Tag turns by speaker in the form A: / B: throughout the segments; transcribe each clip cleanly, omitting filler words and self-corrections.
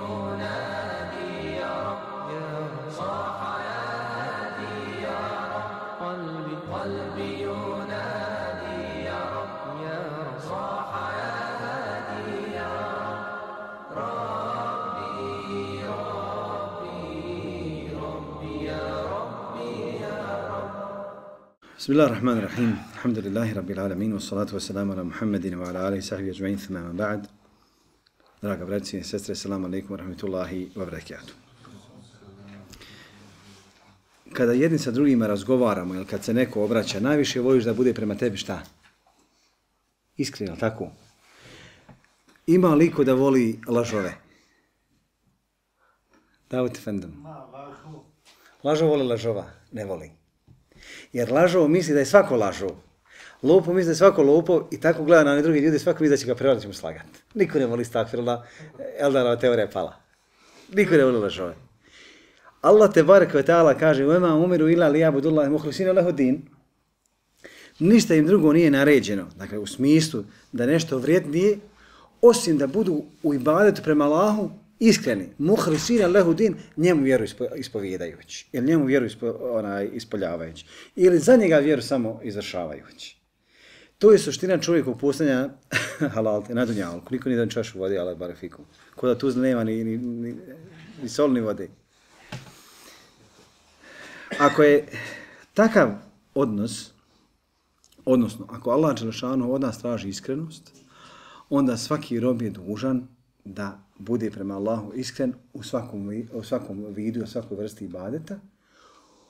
A: ينادي يا رب صاح يا هادي يا رب قلبي ينادي يا رب صاح يا هادي يا رب ربي يا ربي يا رب.
B: بسم الله الرحمن الرحيم. الحمد لله رب العالمين والصلاة والسلام على محمد وعلى آله وصحبه أجمعين ثم ما بعد. Draga braći i sestre, assalamu alaikum wa rahmatullahi wa barakatuh. Kada jedni sa drugima razgovaramo ili kad se neko obraća, najviše voliš da bude prema tebi šta? Iskreno, tako? Ima li ko da voli lažove? Davut Efendom. Lažov voli lažova? Ne voli. Jer lažov misli da je svako lažov. Lopov misli da je svako lopov i tako gleda na one drugi ljudi, svako misli da će ga prevarati, će mu slagati. Niko ne voli stakfirullah, Eldarova teorija je pala. Niko ne voli lažove. Allah te barek ve ta'ala kaže وَمَا umiru illa liyabudu Allaha mukhlisina lahu din. Ništa im drugo nije naređeno, dakle u smislu da nešto vrijednije, osim da budu u ibadetu prema Allahu iskreni, mukhlisina lahu din, njemu vjeru ispovjedajući, ili njemu vjeru ispoljavajući, ili za njega vjeru samo izvršavajući. To je suština čovjekog postanja halalte na dunjalku. Niko nije dan čašu vode, ale barefiku. Ko da tu nema ni sol ni vode. Ako je takav odnos, odnosno ako Allah dželešanu od nas traži iskrenost, onda svaki rob je dužan da bude prema Allahu iskren u svakom vidu, u svakoj vrsti ibadeta,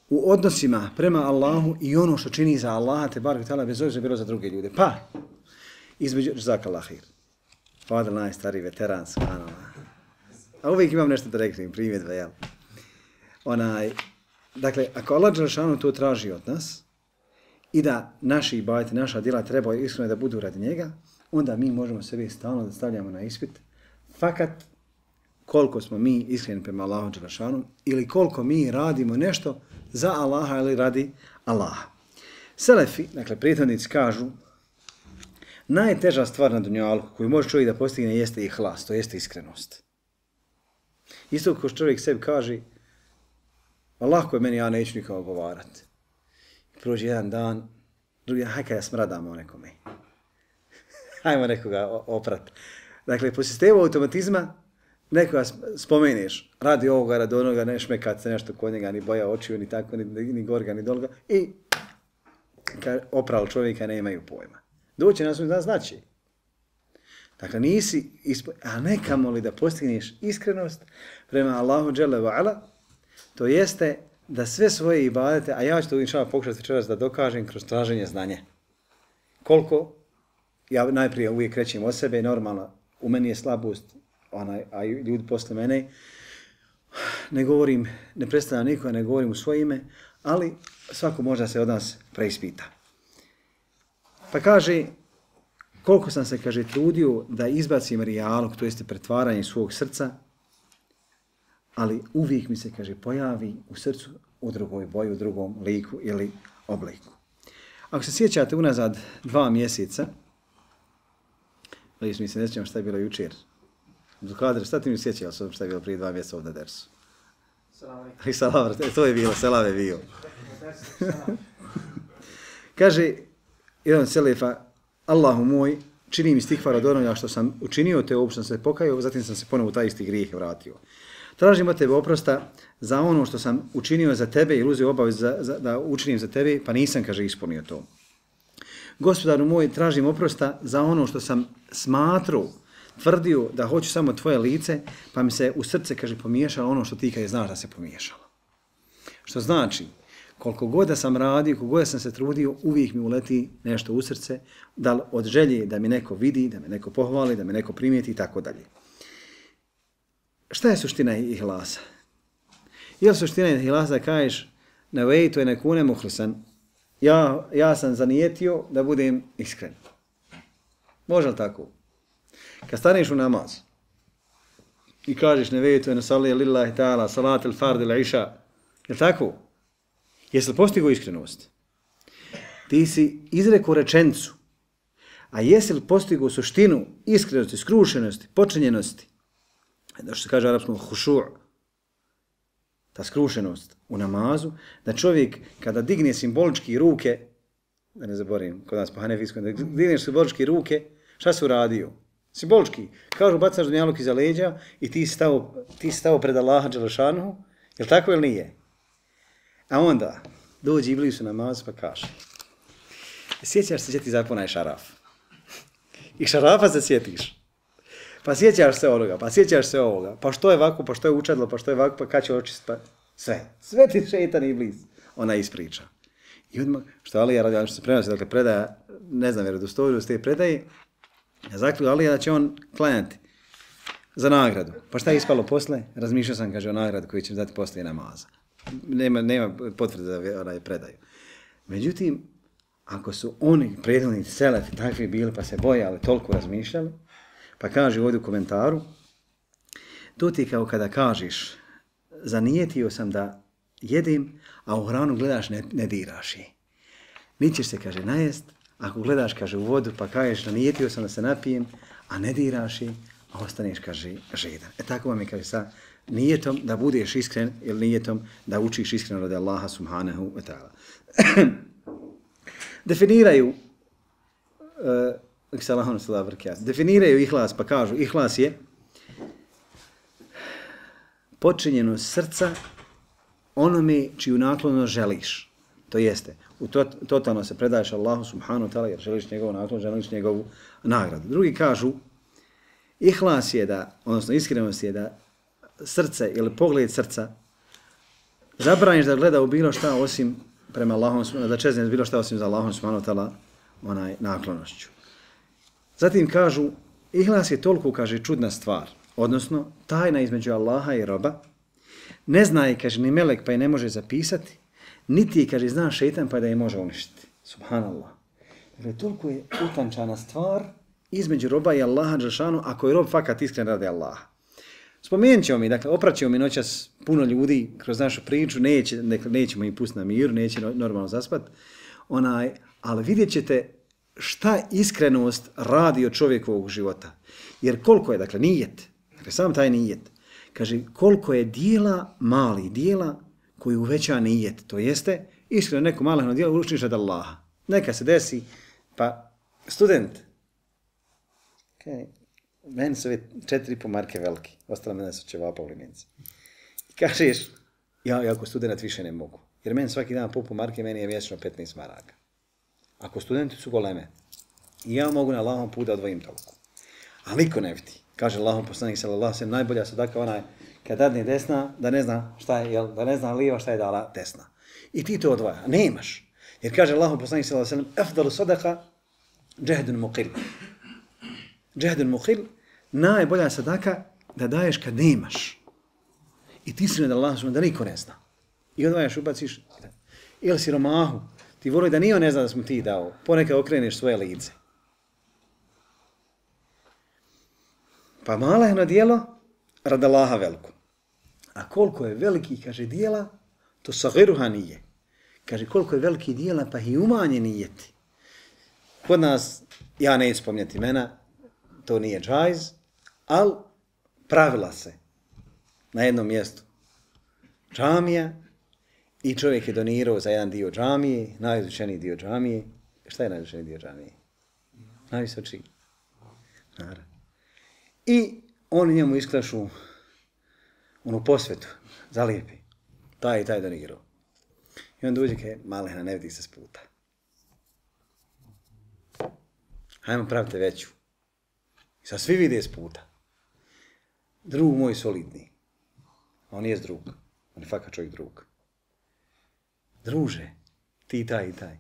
B: u odnosima prema Allahu i ono što čini za Allaha, te barek ta'ala, bez obzira bilo za druge ljude. Pa, između Jazakallah khair. Fadel najstariji veteran, subhanallah. A uvijek imam nešto da reknem, primjedbe, jel? Dakle, ako Allah dželešanu to traži od nas i da naši ibadeti, naša djela treba iskreno da budu radi njega, onda mi možemo sebe stalno da stavljamo na ispit, fakat koliko smo mi iskreni prema Allahu dželešanu ili koliko mi radimo nešto za Allaha ili radi Allaha. Selefi, dakle prethodnici kažu, najteža stvar na dunjalku koju može čovjek da postigne jeste ihlas, to jeste iskrenost. Isto kao čovjek sebi kaže, Allah ko je meni, ja neću nikao ogovarati. Prođe jedan dan, drugi dan, hajka ja smradamo nekome. Hajmo nekoga oprati. Dakle, po sistemu automatizma, nekoga spomeneš, radi ovoga, radi onoga, ne šmekat se nešto kod njega, ni boja očiju, ni tako, ni gorga, ni dolga, i oprali čovjeka nemaju pojma. Doće na svoj dan znači. Dakle, nisi, a nekamo li da postigneš iskrenost prema Allahu dželle ve ala, to jeste da sve svoje ibadete, a ja ću to inšallah pokušati večeras da dokažem kroz traženje znanja. Koliko, ja najprije uvijek krećem od sebe, normalno, u meni je slabost, a ljudi posle mene, ne govorim, ne predstavljam nikoga, ne govorim u svoje ime, ali svako možda se od nas preispita. Pa kaže, koliko sam se, kaže, trudio da izbacim rijalog, to jeste pretvaranje svog srca, ali uvijek mi se, kaže, pojavi u srcu u drugoj boji, u drugom liku ili obliku. Ako se sjećate unazad 2 mjeseca, mi se ne sjećamo šta je bilo jučer. Abdulkadir, šta ti mi sjećao šta je bilo prije 2 mjeseca ovdje dersu? Salam. To je bilo, selam je bio. Kaže, jedan selefa, Allahu moj, čini mi stihvar od onoga što sam učinio, te uopšte sam se pokajao, zatim sam se ponovo u taj isti grijeh vratio. Tražim od tebe oprosta za ono što sam učinio za tebe ili uzeo obavez da učinim za tebe, pa nisam, kaže, ispunio to. Gospodaru moj, tražim oprosta za ono što sam smatrao, tvrdio da hoću samo tvoje lice, pa mi se u srce, kaže, pomiješalo ono što ti kad je znaš da se pomiješalo. Što znači, koliko god da sam radio, koliko god da sam se trudio, uvijek mi uleti nešto u srce, da od želje da mi neko vidi, da me neko pohvali, da me neko primijeti i tako dalje. Šta je suština ihlasa? Je li suština ihlasa da kažeš nevejtu je nekune muhlisan, ja sam zanijetio da budem iskren. Može li tako? Kad staneš u namaz i kažeš nevejtu je nasalija lillahi ta'ala salat il fard il iša, je li tako? Jesi li postigao iskrenost? Ti si izrekao rečenicu, a jesi li postigao suštinu iskrenosti, skrušenosti, počinjenosti? što se kaže u arapskom hušu', ta skrušenost u namazu, da čovjek kada digne simbolički ruke, da ne zaboravim, kod nas po hanefijskom, da digneš simbolički ruke, šta si uradio? Simbolički. Kažu, bacaš dunjaluk iza leđa i ti si stao pred Allaha Đelešanuhu, je li tako ili nije? A onda dođe Iblis u namaz pa kaže, sjećaš se gdje ti zapunaj šaraf. I šarafa se sjetiš. Pa sjećaš se onoga, pa sjećaš se ovoga, pa što je ovako, pa što je učadlo, pa što je ovako, pa kad će očist, pa sve. Sve ti šeitan Iblis. Ona ispriča. I odmah, što Alija radi, što se prenosi, dakle predaja, ne znam vjerodostojnost te predaje, zaključio Alija da će on klanjati za nagradu. Pa šta je ispalo posle? Razmišljao sam, kaže, o nagradu koju će dati poslije namaza. Nema potvrde da onaj predaju. Međutim, ako su oni prethodni selefi takvi bili pa se bojali, toliko razmišljali, pa kaže ovdje u komentaru, to ti kao kada kažeš, zanijetio sam da jedem, a u hranu gledaš ne diraš je. Nićeš se, kaže, najest, ako gledaš, kaže, u vodu, pa kažeš, zanijetio sam da se napijem, a ne diraš je, a ostaneš, kaže, žedan. Tako vam je, kaže, sa nijetom da budeš iskren ili nijetom da učiš iskreno od Allaha subhanahu wa ta'ala. Definiraju ihlas, pa kažu, ihlas je počinjeno srca onome čiju naklonost želiš. To jeste, totalno se predaješ Allahu subhanahu wa ta'ala jer želiš njegovu naklonost, želiš njegovu nagradu. Drugi kažu, ihlas je da, odnosno iskrenost je da srce ili pogled srca zabraniš da gleda u bilo šta osim prema Allahom, da čezne bilo šta osim za Allahom subhanahu wa ta'ala onaj naklonošću. Zatim kažu, ihlas je toliko, kaže, čudna stvar, odnosno tajna između Allaha i roba, ne zna je, kaže, ni melek pa je ne može zapisati, niti je, kaže, zna šeitan pa da je može uništiti. Subhanallah. Dakle, toliko je utančana stvar između roba i Allaha Đelšanu, ako je rob fakat iskren radi Allaha. Spomenut ćemo mi, dakle, opraćemo mi noćas puno ljudi kroz našu priču, nećemo ih pustiti na miru, neće normalno zaspat, ali vidjet ćete šta iskrenost radi od čovjekovog života. Jer koliko je, dakle, nijet, dakle, sam taj nijet, kaže, koliko je dijela, mali dijela, koji uveća nijet, to jeste, iskreno neko malehno dijelo učiniš od Allaha. Neka se desi, pa student, okay. Meni su 4,5 marke veliki, ostalo mene su ćevapa u limenci. I kažeš, ja ako student više ne mogu, jer meni svaki dan po marke, meni je mjesečno 15 maraka. Ako studenti su goleme, i ja mogu na Allahom put da odvojim toliko. A niko ne vidi. Kaže Allahom poslanik sallallahu alejhi ve sellem, najbolja sadaka onaj kad dadne desna, da ne zna šta je, da ne zna lijeva šta je dala desna. I ti to odvaja. Nemaš. Jer kaže Allahom poslanik sallallahu alejhi ve sellem, afdalu sadaka džehdun muqil. Džehdun muqil, najbolja sadaka da daješ kad nemaš. I ti si da Allah da niko ne zna. I odvajaš, ubaciš. Ili siromahu. Ti voli da nije on ne zna da smo ti dao. Ponekad okreneš svoje lice. Pa malehno dijelo rad Allaha veliko. A koliko je veliki, kaže, dijela, to sagiruha nije. Kaže, koliko je veliki dijela, pa i umanje nijeti. Kod nas, ja neću spomnjati imena, to nije džajz, ali pravila se na jednom mjestu džamija i čovjek je donirao za jedan dio džamije, najizvučeniji dio džamije. Šta je najizvučeniji dio džamije? Najvisočiji. Naravno. I oni njemu isklašu onu posvetu, zalijepi. Taj i taj donirao. I on dođe kaj, malehna, ne vidi se s puta. Hajmo pravite veću. I sad svi vide s puta. Drug moj solidni. On je drug. On je fakat čovjek drug. Druže, ti taj i taj.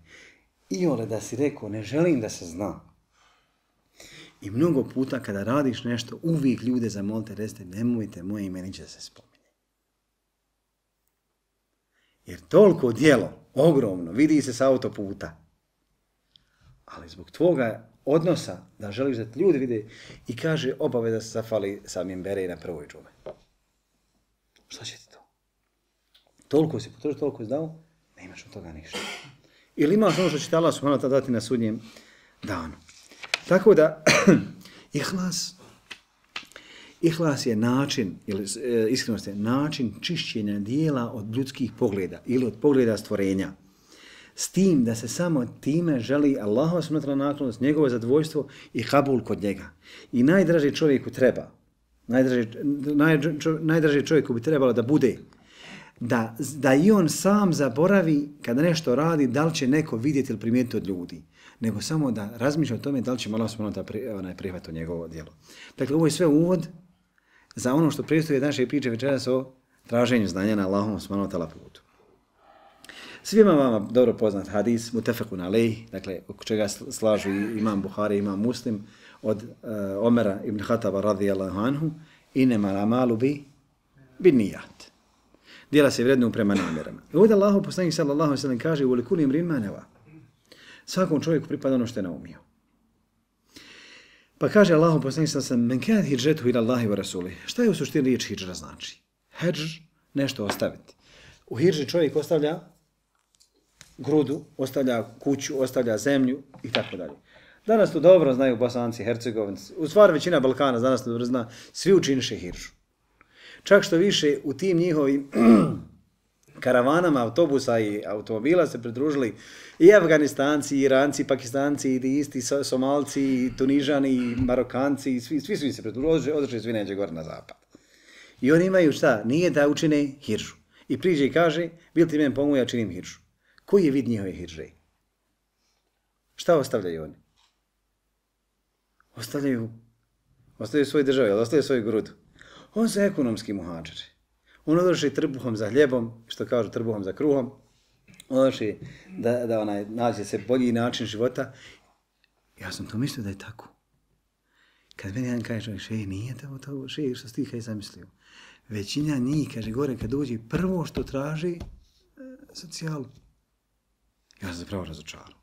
B: I ole da si rekao, ne želim da se zna. I mnogo puta kada radiš nešto, uvijek ljude zamolite, recite, nemojte moje ime niće da se spominje. Jer toliko dijelo, ogromno, vidi se s autoputa. Ali zbog tvoga odnosa, da želiš da ljudi vide, i kaže obaveza se zafali sa mimbere na prvoj džume. Šta će ti to? Toliko si potrošio, toliko si dao, ne imaš od toga ništa. Ili imaš ono što će te Allah subhanahu wa ta'ala dati na sudnjem danu. Tako da, Ihlas je način, ili iskrenost je način čišćenja dijela od ljudskih pogleda ili od pogleda stvorenja. S tim da se samo time želi Allahova subhanahu naklonost, njegovo zadovoljstvo i kabul kod njega. I najdraži čovjeku treba, najdraži čovjeku bi trebalo da bude da i on sam zaboravi kada nešto radi, da li će neko vidjeti ili primijetiti od ljudi, nego samo da razmišlja o tome da li će Allah subhanahu prihvatiti njegovo djelo. Dakle, ovo je sve uvod za ono što predstavlja naše priče večeras o traženju znanja na Allahovom subhanahu putu. Svima vama dobro poznat hadis, mutafekun alejh, dakle, oko čega slažu imam Buhari, imam Muslim, od Omera ibn Khattaba radijallahu anhu, inema amalu bi nijat. Djela se vrednuju prema namjerama. I ovdje Allahu poslanik sallallahu alejhi ve sellem kaže u likulli imrin ma nawa. Svakom čovjeku pripada ono što je naumio. Pa kaže Allahu poslanik sallallahu alejhi ve sellem men kana hijratuhu ila Allahi wa rasulih. Šta je u suštini riječ hidžra znači? Hedž, nešto ostaviti. U hidži čovjek ostavlja grudu, ostavlja kuću, ostavlja zemlju i tako dalje. Danas to dobro znaju Bosanci, Hercegovci, u stvari većina Balkana danas to dobro zna, svi učiniše hidžu. Čak što više u tim njihovim karavanama autobusa i automobila se pridružili i Afganistanci, i Iranci, i Pakistanci, i isti Somalci, i Tunižani, i Marokanci, i svi su se pridružili, održali svi neđe gore na zapad. I oni imaju šta? Nije da učine hidžu. I priđe i kaže, bil ti meni pomogu, ja činim hidžu. Koji je vid njihove hidže? Šta ostavljaju oni? Ostavljaju svoje države, ostavljaju svoju grudu. On su ekonomski muhađiri. On odlaši trbuhom za hljebom, što kažu trbuhom za kruhom. On odlaši da nađe se bolji način života. Ja sam to mislio da je tako. Kad meni jedan kaže, nije to što si ti kaj zamislio. Većina njih, kaže gore, kad dođe, prvo što traži, socijalu. Ja sam se pravo razočarao.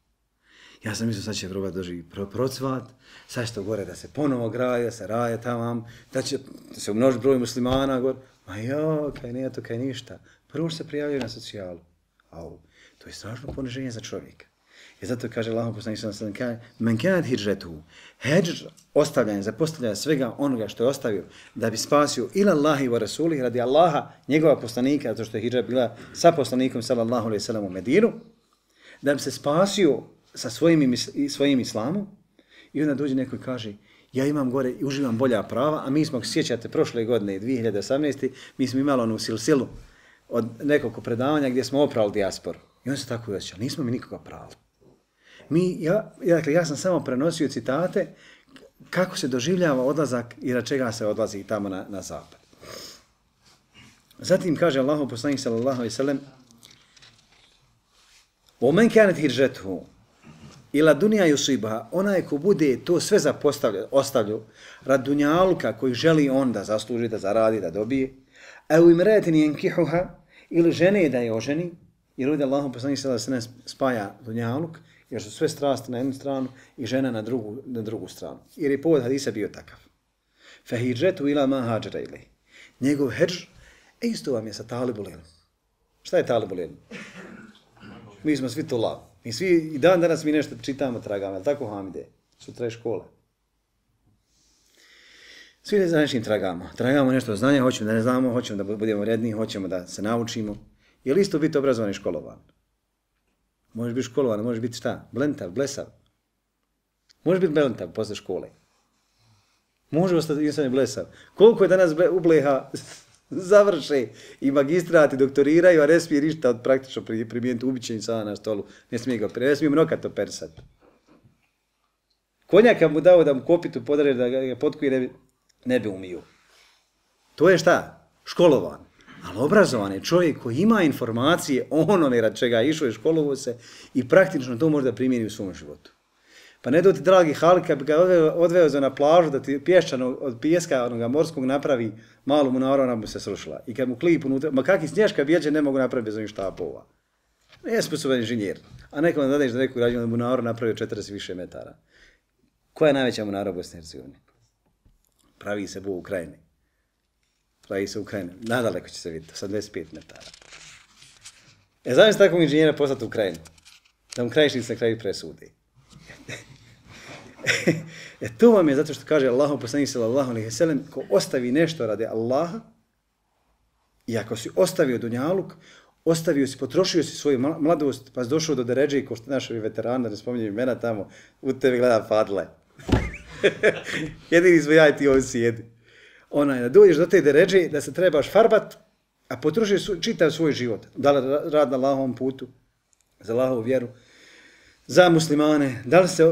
B: Ja sam mislio sad će probati doživi procvat, sad će to gore da se ponovo graje, da se raje tamo, da će se umnoži broj muslimana gore. Ma jo, kaj nije to, kaj ništa. Prvo se prijavljaju na socijalu. Au, to je strašno poniženje za čovjeka. I zato kaže Allahom poslanik sallallahu alejhi ve sellem, men kanat hijratuhu, hidž ostavljanje, zapostavljanje svega onoga što je ostavio da bi spasio ila Allahi wa rasulih, radi Allaha, njegova poslanika, zato što je hidža bila sa poslanikom sallallahu alejhi ve sellem u Medinu, da bi se spasio sa svojim islamom. I onda dođe neko i kaže, ja imam gore i uživam bolja prava, a mi smo, sjećate, prošle godine, 2018. mi smo imali onu silsilu od nekoliko predavanja gdje smo oprali dijasporu. I on se tako osjećao, nismo mi nikoga prali. Ja sam samo prenosio citate kako se doživljava odlazak i na čega se odlazi tamo na zapad. Zatim kaže Allahov poslanik sallallahu alejhi ve sellem, "Omen kanat hijratuhu ila dunja yusibaha", onaj ko bude to sve ostavljao rad dunjaluka koji želi on da zasluži, da zaradi, da dobije, a u imratin yankihuha, ili žene da je oženi, jer ovdje Allahov poslanik sallallahu alejhi ve sellem spaja dunjaluk, jer su sve strasti na jednu stranu i žena na drugu stranu. Jer je povod hadisa bio takav. Fa hijratu ila ma hađara ilih. Njegov hedž, isto vam je sa talibul ilm. Šta je talibul ilm? Mi smo svi tulav. Mi svi, i danas mi nešto čitamo, tragamo, ali tako Hamide? Sutra je škola. Svi za nečim tragamo. Tragamo nešto znanja, hoćemo da ne znamo, hoćemo da budemo redni, hoćemo da se naučimo. Je li isto biti obrazovan i školovan? Možeš biti školovan, možeš biti šta? Blentav, blesav. Možeš biti blentav posle škole. Može ostati insan blesav. Koliko je danas ubleha završe i magistrat i doktoriraju, a ne smije ništa od praktično primijeniti ubiće insana na stolu. Ne smije mnokat operisati. Konjaka mu dao da mu kopitu podare, da ga potkuje, ne bi umio. To je šta? Školovan. Ali obrazovan je čovjek koji ima informacije o onome rad čega je išao i školovo se i praktično to može da primjeni u svom životu. Pa ne do ti, dragi Halik, kad bi ga odveo na plažu da ti pješčano od pijeska onoga morskog napravi malu munaru, ona bi se srušila. I kad mu klip unutra, ma kakvi snješka bjeđe ne mogu napraviti bez ovih štapova. Nije sposoban inženjer. A nekom da dadeš da neku građenu munaru napravio 40 više metara. Koja je najveća munara u Bosni i Hercegovini? Pravi se u Ukrajini. Pravi se u Ukrajini. Nadaleko će se vidjeti, sa 25 metara. Znam se takvog inženjera poslati u Ukrajinu. Da mu krajišnic na kraju presudi. To vam je zato što kaže Allahu poslanik sallallahu alejhi ve sellem, ko ostavi nešto radi Allaha, i ako si ostavio dunjaluk, ostavio si, potrošio si svoju mladost, pa si došao do deređe, ko što naši veterani, da ne spominjem imena tamo, u tebi gleda Fadle. Jedini smo ja i ti ovdje sjedi. Da dođeš do te deređe, da se trebaš farbat, a potrošiš čitav svoj život. Da li rad na Allahovom putu, za Allahovu vjeru, za muslimane, da li se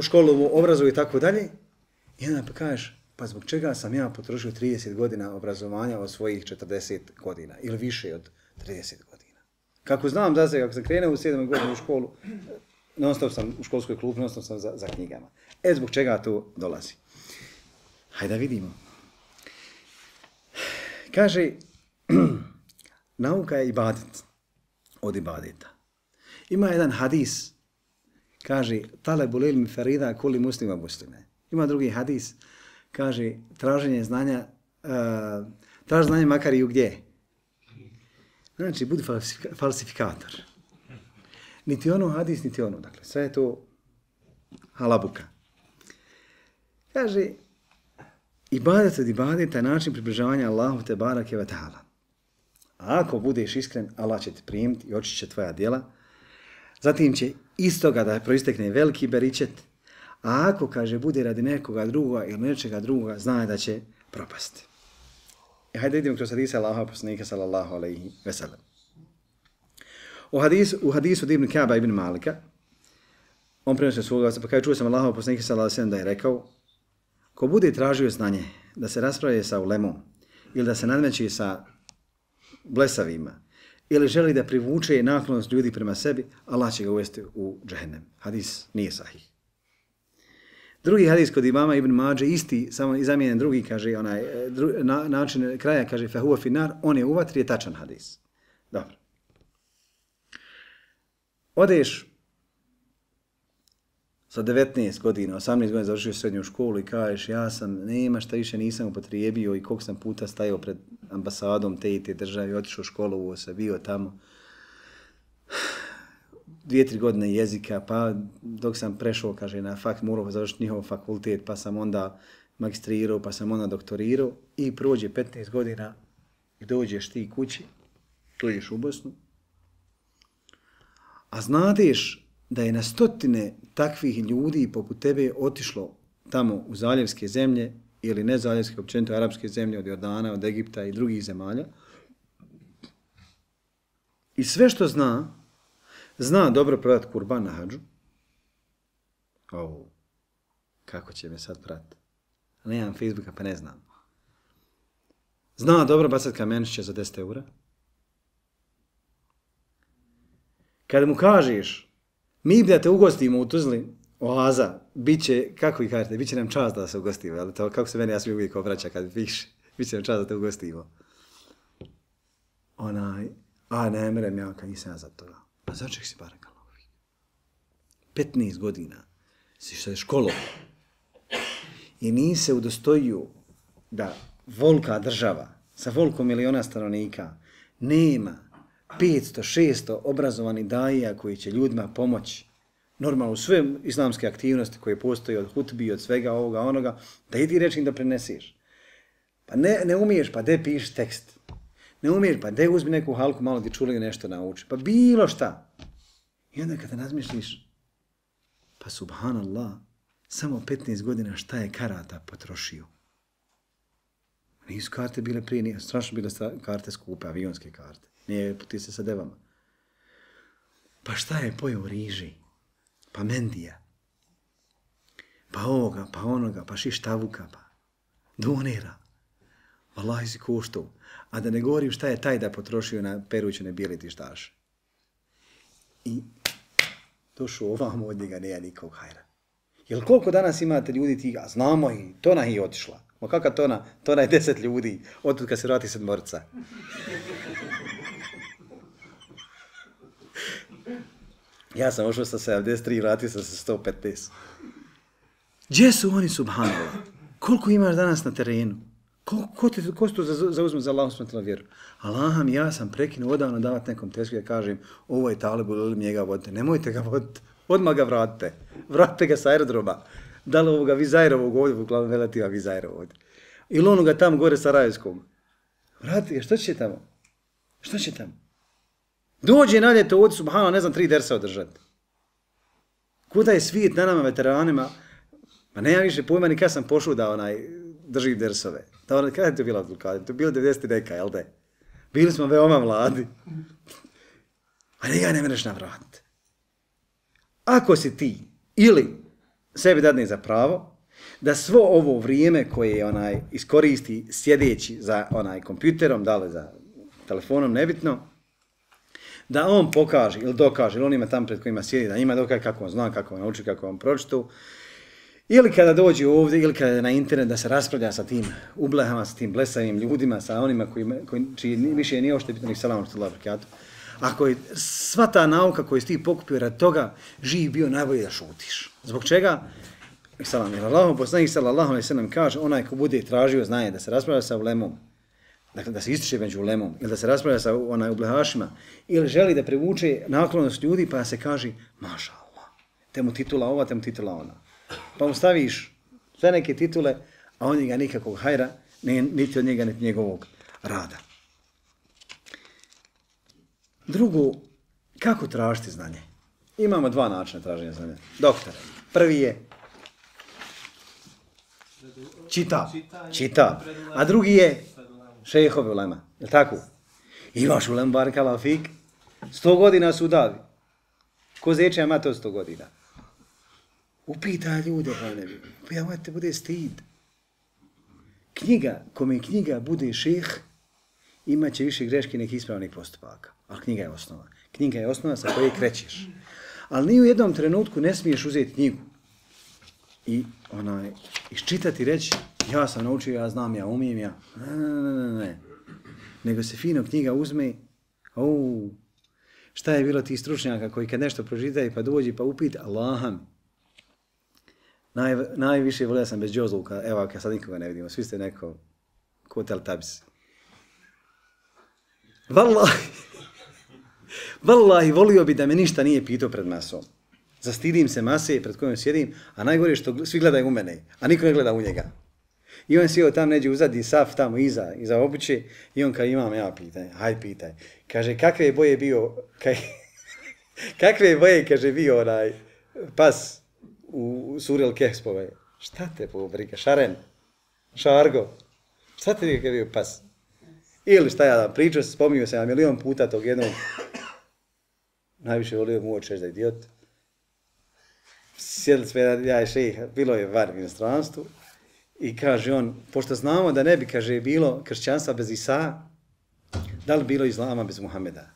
B: školovo obrazuju i tako dalje. I onda pa kažeš, pa zbog čega sam ja potrošio 30 godina obrazovanja od svojih 40 godina ili više od 30 godina. Kako znam da se, kako sam krenuo u 7. godinu u školu, non stop sam u školskoj klubu, non stop sam za knjigama. Zbog čega to dolazi? Hajde da vidimo. Kaže, nauka je ibadet od ibadeta. Ima jedan hadis, kaže, talebul ilmi farida kulli muslima muslime. Ima drugi hadis, kaže, traženje znanja, traži znanje makar i u gdje. Znači, budi falsifikator. Niti ono hadis, niti ono. Dakle, sve je to halabuka. Kaže, ibadet od ibadeta je način približavanja Allahu te barake ve ta'ala. A ako budeš iskren, Allah će te primiti i očišće tvoja djela. Zatim će iz toga da proistekne veliki beričet. A ako, kaže, bude radi nekoga drugoga ili nečega drugoga, zna da će propasti. Hajde vidimo kroz hadisa Allaha poslanika sallallahu alejhi ve sellem. U hadisu od Ibn Ka'ba ibn Malika, on prenosio svoga, pa kaže, čuo sam Allaha poslanika sallallahu alejhi ve sellem da je rekao, ko bude tražio znanje da se raspravlja sa ulemom ili da se nadmeće sa blesavima ili želi da privuče naklonost ljudi prema sebi, Allah će ga uvesti u džehennem. Hadis nije sahih. Drugi hadis kod imama Ibn Mađe, isti, samo zamijenjen drugi, kaže, način kraja, kaže, fahuwa finar, on je u vatri, je tačan hadis. Dobro. Odeš sa 19 godina, 18 godina završio srednju školu i kažeš, ja sam, nema šta više nisam upotrijebio i koliko sam puta stajao pred ambasadom te i te države, otišao u školu, se bio tamo. 2-3 godine jezika, pa dok sam prešao, kaže, na morao završiti njihov fakultet, pa sam onda magistrirao, pa sam onda doktorirao i prođe 15 godina i dođeš ti kući, dođeš u Bosnu, a znadeš da je na stotine takvih ljudi poput tebe otišlo tamo u zaljevske zemlje ili ne zaljevske, općenito arapske zemlje, od Jordana, od Egipta i drugih zemalja. I sve što zna dobro prodati kurban na hadžu. Kako će me sad pratiti? Nemam Facebooka pa ne znam. Zna dobro bacati kamenčiće za 10 eura. Kada mu kažeš, mi bi da te ugostimo u Tuzli, oaza, bit će, kako vi kažete, bit će nam čast da se ugostimo, ali to, kako se meni, ja sam uvijek obraća kad piše, bit će nam čast da te ugostimo. Ne merem ja kad nisam ja za toga. Pa začek si barakala ovih. 15 godina si se školovao i nisi se udostojio da volka država sa volkom miliona stanovnika nema 500-600 obrazovani dajija koji će ljudima pomoći normalno u sve islamske aktivnosti koje postoje od hutbi, od svega ovoga, onoga, da idi reći im da preneseš. Pa ne umiješ, pa de piši tekst. Ne umiješ, pa de uzmi neku halku, malo ti čuli nešto nauči. Pa bilo šta. I onda kada razmišljiš, pa subhanallah, samo 15 godina šta je karata potrošio. Nisu karte bile prije, nije strašno bile karte skupe, avionske karte. Nije puti se sa devama. Pa šta je pojeo riži? Pa mendija. Pa ovoga, pa onoga, pa šištavuka, pa donira. Wallahi si koštao. A da ne govorim šta je taj da potrošio na perućene bijeli tištaše. I došao ovamo od njega, nema nikog hajra. Jel koliko danas imate ljudi ti, a znamo i Tona je otišla. Ma kakva Tona? Tona je 10 ljudi, otud kad se vrati 7. Ja sam ošao sa 73, vratio sam se 115. Gdje su oni, subhanallah? Koliko imaš danas na terenu? Ko se to zauzme za Allahom smatila vjeru? Allaham, ja sam prekinuo odavno davati nekom tesku da kažem ovo je talibul ili njega vodite. Nemojte ga voditi. Odmah ga vratite. Vratite ga sa aerodroma. Da li ovoga Vizajrovog ovdje, uglavnom relativa Vizajrov ovdje. Ili onoga tamo gore Sarajevskog. Vrati, što će tamo? Što će tamo? Dođe na ljeto ovdje, subhanallah, ne znam, 3 dersa održati. Kuda je svijet na nama veteranima? Ma nema više pojma ni kad sam pošao da držim dersove. Kada je to bilo Abdulkadir? To je bilo 90 neka, jel da je? Bili smo veoma mladi. A njega ne mreš navratiti. Ako si ti ili sebi dadne za pravo da svo ovo vrijeme koje iskoristi sjedeći za kompjuterom, da li za telefonom, nebitno, da on pokaže ili dokaže, ili on ima tamo pred kojima sjedi, da njima dokaže kako on zna, kako on nauči, kako on pročitu, ili kada dođe ovdje, ili kada je na internet da se raspravlja sa tim ublehama, sa tim blesavim ljudima, sa onima čiji više nije ošte bitno, salamu alejkum ve barakatuh. Ako je sva ta nauka koju si ti pokupio rad toga, živ bio najbolje da šutiš. Zbog čega? Salam, jer Allahov poslanik sallallahu alejhi ve sellem kaže, onaj ko bude tražio znanje da se raspravlja sa ulemom, dakle da se ističe među ulemom, ili da se raspravlja sa ublehašima, ili želi da privuče naklonost ljudi, pa se kaže, maša Allah, te mu titula ova, te mu titula ona. Pa mu staviš sve neke titule, a on njega nikakvog hajra, niti od njega, niti njegovog rada. Drugo, kako tražiti znanje? Imamo 2 načina traženja znanja. Doktor, prvi je čita, a drugi je šejhovi ulema, je li tako? Imaš ulem barakallahu fik, 100 godina su davi. Ko zeče ima to 100 godina? Upitaj ljude, pa ne bi. Ja te bude stid. Kome knjiga bude šejh, imat će više greški nekih ispravnih postupaka. Ali knjiga je osnova. Knjiga je osnova sa koje krećeš. Ali ni u jednom trenutku ne smiješ uzeti knjigu i iščitati i reći ja sam naučio, ja znam, ja umijem, ja. Ne. Nego se fino knjiga uzme, šta je bilo tih stručnjaka koji kad nešto pročitaju pa dođi pa upita Allaham. Najviše volio sam bez džozluka, evo kad sad nikoga ne vidimo, svi ste neko ko Teltabis. Wallahi, volio bi da me ništa nije pitao pred masom. Zastidim se mase pred kojom sjedim, a najgore je što svi gledaju u mene, a niko ne gleda u njega. I on sjeo tam neđe uzadi saf tamo iza obuće i on kao imam ja pitanje, haj pitaj. Kaže, kakve boje bio, kaže, bio onaj pas u Suril Kehspove. Šta te pobrika, šaren, šargo, šta te je bio pas? Ili šta ja da pričao, spominio sam milion puta tog jednog, najviše volio mu očeš da je idiot. Sjedili sve, ja i šejh, bilo je var u inostranstvu i kaže on, pošto znamo da ne bi, kaže, bilo kršćanstva bez Isa, da li bilo islama bez Muhameda?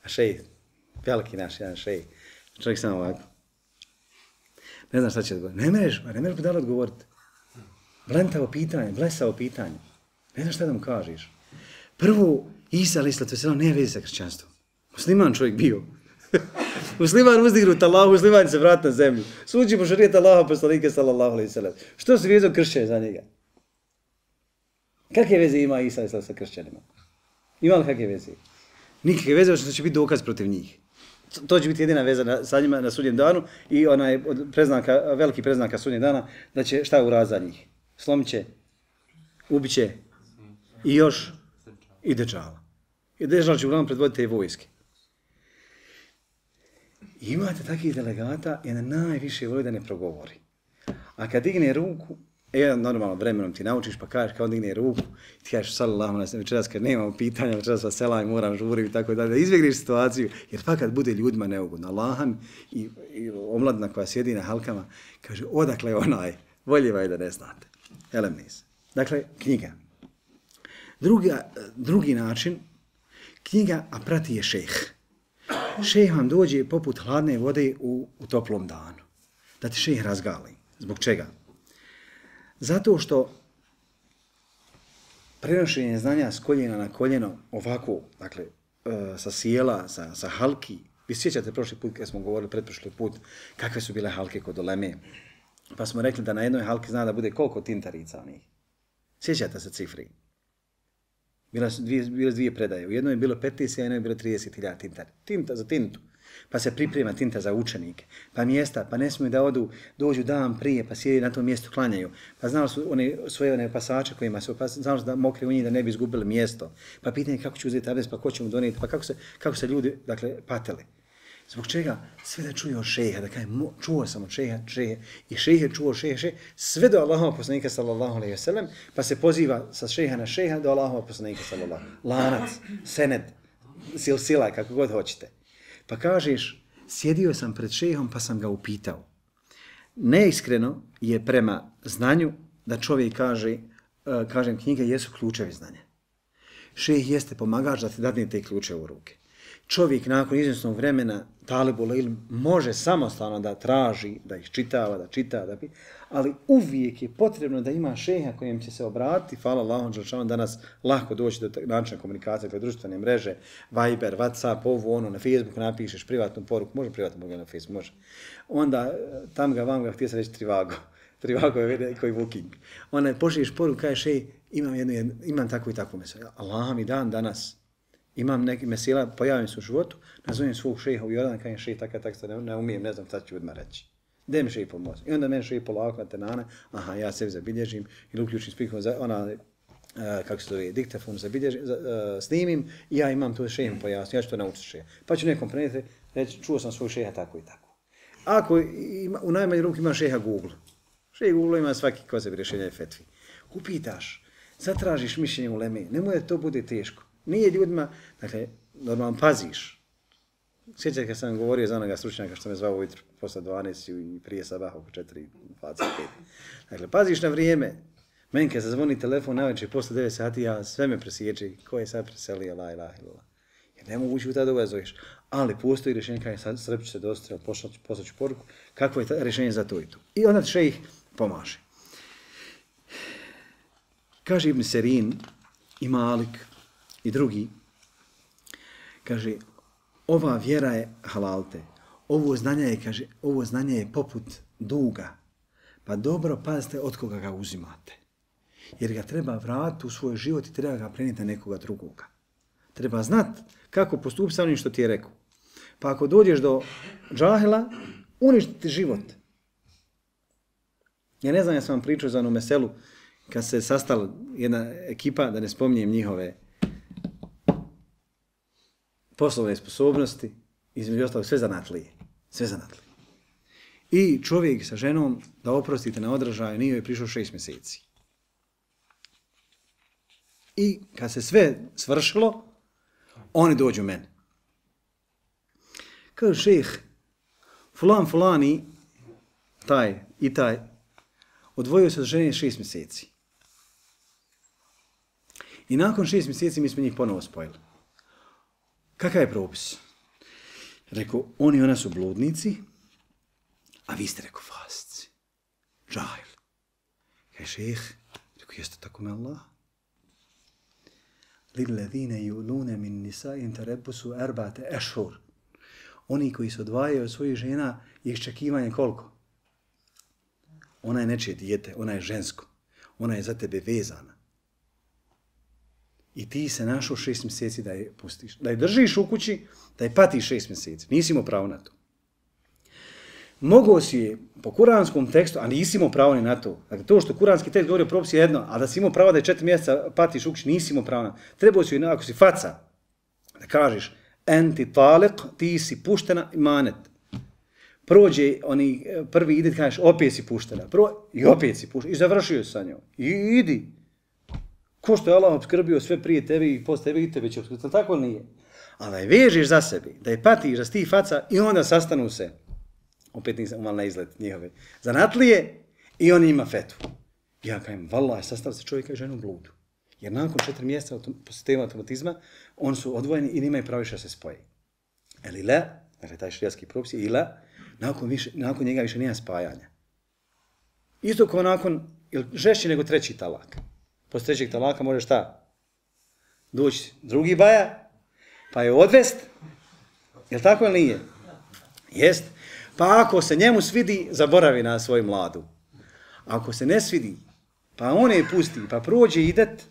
B: A šejh, veliki naš jedan šejh, čovjek samo ovako. Ne znam šta će odgovoriti. Ne mereš bi dali odgovoriti. Blesavo pitanje. Ne znam šta da mu kažeš. Prvo, Isa a.s. nije vezi sa kršćanstvom. Musliman čovjek bio. Musliman uzdignut Allahu, musliman se vrat na zemlju. Suđi po šarijet Allaha poslanika sallallahu alejhi ve sellem. Što se vezao kršćani za njega? Kakve veze ima Isa a.s. sa kršćanima? Ima li kakve veze? Nikakve veze, što će biti dokaz protiv njih. To će biti jedina veza sa njima na sudnjem danu i onaj od veliki preznaka sudnjeg dana da će šta uraditi za njih? Slomit će, ubit će i još i Dejjala. I Dejjal će uglavnom predvoditi te vojske. Imate takvih delegata i na najviše voli da ne progovori. A kad digne ruku, normalno vremenom ti naučiš pa kažeš kao digne ruku, ti kažeš sallallahu alejhi ve sellem, večeras kad nemamo pitanja, večeras vas selam, moram žurim i tako dalje, da izbjegneš situaciju, jer fakat bude ljudima neugodno. Allaham i omladina koja sjedi na halkama, kaže odakle onaj, voljiva je da ne znate. Elemnis. Dakle, knjiga. Drugi način, knjiga, a prati je šejh. Šejh vam dođe poput hladne vode u toplom danu. Da ti šejh razgali. Zbog čega? Zato što prenošenje znanja s koljena na koljeno ovako, dakle, sa sjela, sa halki. Vi sjećate prošli put kad smo govorili, pretprošli put, kakve su bile halke kod uleme. Pa smo rekli da na jednoj halki zna da bude koliko tintarica onih. Sjećate se cifri? Bile dvije predaje. U jednoj je bilo 15, a u jednoj je bilo 30.000 tinta za tintu. Pa se priprema tinta za učenike, pa mjesta, pa ne smiju da dođu dan prije, pa sjedi na tom mjestu, klanjaju. Pa znali su svoje pasače kojima su, pa znali su da mokri u njih da ne bi izgubili mjesto. Pa pitanje kako će uzeti abdest, pa ko će mu donijeti, pa kako se ljudi, dakle, patili. Zbog čega? Sve da čuje od šeha, da kaže, čuo sam od šeha, i šeha čuo od šeha, sve do Allahova poslanika sallallahu alejhi ve sellem, pa se poziva sa šeha na šeha do Allahova poslanika sallallahu. Lanac, sened, silsila, kako god hoćete. Pa kažeš, sjedio sam pred šehom pa sam ga upitao. Neiskreno je prema znanju da čovjek kaže, kažem, knjige jesu ključevi znanja. Šejh jeste pomagač da ti dadne te ključe u ruke. Čovjek nakon izvjesnog vremena, talibul ilm, može samostalno da traži, da ih čitava, da čita, ali uvijek je potrebno da ima šeha kojem će se obratiti. Hvala Allahom dželešanu, danas lahko doći do načina komunikacije, dakle društvene mreže, Viber, WhatsApp, ovo, ono, na Facebooku napišeš privatnu poruku, može privatnu poruku na Facebooku, može. Onda tam ga, vam ga, htio sam reći Trivago. Trivago je koji booking. Onda pošliješ poruku, kažeš, imam takvu i takvu mesu. Allah mi dan danas. Imam neki mesela, pojavim se u životu, nazovem svog šeha u Jordan, kažem šeha tako ne umijem, ne znam šta ću odmah reći. Gdje mi šeha pomoći? I onda meni šeha polako na tenane, aha, ja sebi zabilježim ili uključim spikom, kako se zove, diktafon snimim i ja imam to šeha pojasniti, ja ću to naučiti šeha. Pa ću nekom prenijeti, reći, čuo sam svog šeha tako i tako. Ako u najmanju ruku ima šeha Google, šeha Google ima svaki ko sebi rješenja i fetvi. Upitaš, zatražiš mišljenje u leme, nemoj da to bude teško. Nije ljudima, dakle, normalno paziš. Sjećate kad sam govorio za onoga stručnjaka što me zvao ujutru posle 12 i prije sabah oko 4:25. Dakle, paziš na vrijeme. Meni kad zazvoni telefon navečer posle 9 sati, ja sve me presjeće. Ko je sad preselio, la ilaha illallah. Jer ne mogu ući u tada zoveš. Ali postoji rješenje kada je srep će se dostati, poslaću poruku, kako je rješenje za to i to. I onda šejh pomaže. Kaže Ibn Serin i Malik i drugi, kaže, ova vjera je halalte, ovo znanje je poput duga, pa dobro pazite od koga ga uzimate. Jer ga treba vratiti u svoj život i treba ga prenijeti na nekoga drugoga. Treba znati kako postupiti sa onim što ti je rekao. Pa ako dođeš do džahila, uništiti život. Ja ne znam, ja sam vam pričao za onu meselu, kad se sastala jedna ekipa, da ne spominjem njihove poslovne sposobnosti, između ostalog sve zanatlije. I čovjek sa ženom, da oprostite na odražaju, nije joj prišao 6 mjeseci. I kad se sve svršilo, oni dođu meni. Kaže šejh, fulani, taj i taj, odvojio se od žene 6 mjeseci. I nakon 6 mjeseci mi smo njih ponovo spojili. Kakav je propis? Rekao, oni i ona su bludnici, a vi ste, rekao, fasici. Džahil. Kaže šejh, rekao, jeste tako me Allah? Lilladine yulune min nisa'in tarebbusu arba'ate ashhur. Oni koji se odvajaju od svojih žena je iščekivanje koliko? Ona je nečije dijete, ona je žensko. Ona je za tebe vezana. I ti se našao 6 mjeseci da je pustiš. Da je držiš u kući, da je patiš 6 mjeseci. Nisi imao pravo na to. Mogao si je po kuranskom tekstu, a nisi imao pravo ni na to. Dakle, to što kuranski tekst govori o propisi je jedno, a da si imao pravo da je 4 mjeseca patiš u kući, nisi imao pravo na to. Trebao si, ako si faca, da kažeš, enti talik, ti si puštena imanet. Prođe, oni prvi ide, kažeš, opet si puštena. I opet si puštena. I završio sa njom. I idi. Ko što je Allah obskrbio sve prije tebe i posle tebe i tebe će obskrbiti. Tako nije. Ali da je vežeš za sebi, da je patiš, da si ti faca i onda sastanu se. Opet nisam umal na izlet njihove. Zanatlije i on ima fetvu. Ja kajem, vallaha, sastav se čovjeka i ženu u bludu. Jer nakon 4 mjeseca po sistemu automatizma, oni su odvojeni i nimaju pravo više da se spoje. Ili le, dakle taj šerijatski propis, ili nakon njega više nema spajanja. Isto kao nakon, žešći nego 3. talak. Posle 3. talaka može šta? Doći drugi baja, pa je odvest. Je li tako ili nije? Jest. Pa ako se njemu svidi, zaboravi na svoju mladu. Ako se ne svidi, pa on je pusti, pa prođe idet,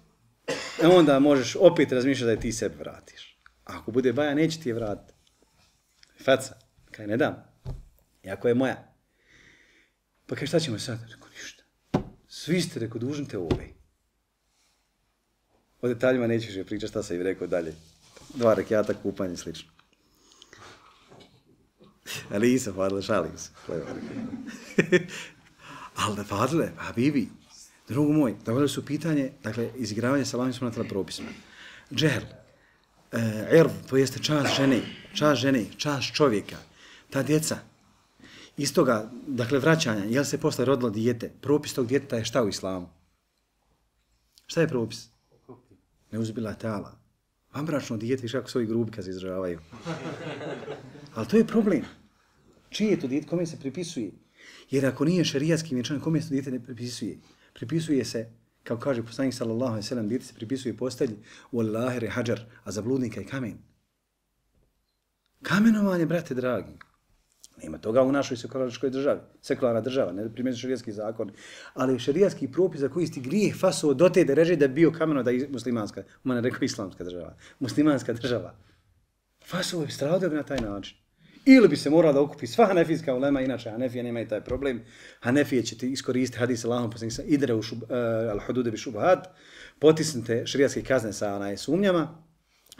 B: onda možeš opet razmišljati da je ti sebe vratiš. Ako bude baja, neće ti je vratiti. Faca. Kaj ne dam. Jako je moja. Pa kaj šta ćemo sad? Rekao, ništa. Svi ste, rekao, dužni te ove. O detaljima neću više pričati šta sam im rekao dalje. 2 rekiata, kupanje i slično. Ali Isa, Fadle, šalim se. Ali da Fadle, Habibi, drugo moj, dovoljno su pitanje, dakle, izigravanje sa Allahom subhanahu wa ta'ala propisima. Džehl, ird, to jeste čast žene, čast čovjeka, ta djeca. Iz toga, dakle, vraćanja, jel se posle rodilo dijete, propis tog djeteta je šta u islamu? Šta je propis? Ne uzbila ta'ala. Vanbračno dijete, viš kako svoji grubi kad se izražavaju. Ali to je problem. Čije je to dijete, kome se pripisuje? Jer ako nije šerijatski vjenčan, kome se to dijete ne pripisuje? Pripisuje se, kao kaže poslanik sallallahu alejhi ve sellem, dijete se pripisuje postelji wallahi hajar, a za bludnika je kamen. Kamenovanje, brate dragi. Nema toga u našoj sekularnoj državi. Sekularna država, ne primjenjuje šerijatski zakon, ali šerijatski propis za koji isti grijeh fasao do te dereže da je bio kameno da je muslimanska, u mene rekao islamska država, muslimanska država. Fasao je stradao na taj način. Ili bi se morala da okupi sva hanefijska ulema, inače Hanefije nema i taj problem. Hanefije ćete iskoristiti hadis Allahom poslanika idre u al-hudude bi šubhat, potisnite šerijatske kazne sa sumnjama,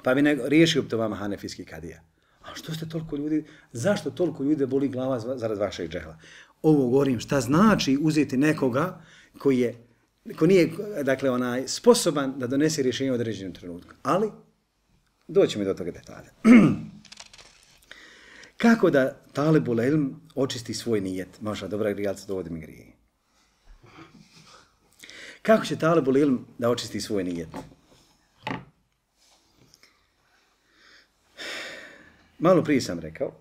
B: pa bi riješio to vama hanefijski kadija. A što ste toliko ljudi, zašto toliko ljudi boli glava zarad vašeg džehla? Ovo govorim, šta znači uzeti nekoga ko nije, dakle, sposoban da donese rješenje u određenom trenutku. Ali, doćemo do toga detalja. Kako da talibul ilm očisti svoj nijet? Maša, dobra grijalca, dovodi mi grije. Kako će talibul ilm da očisti svoj nijet? Malo prije sam rekao,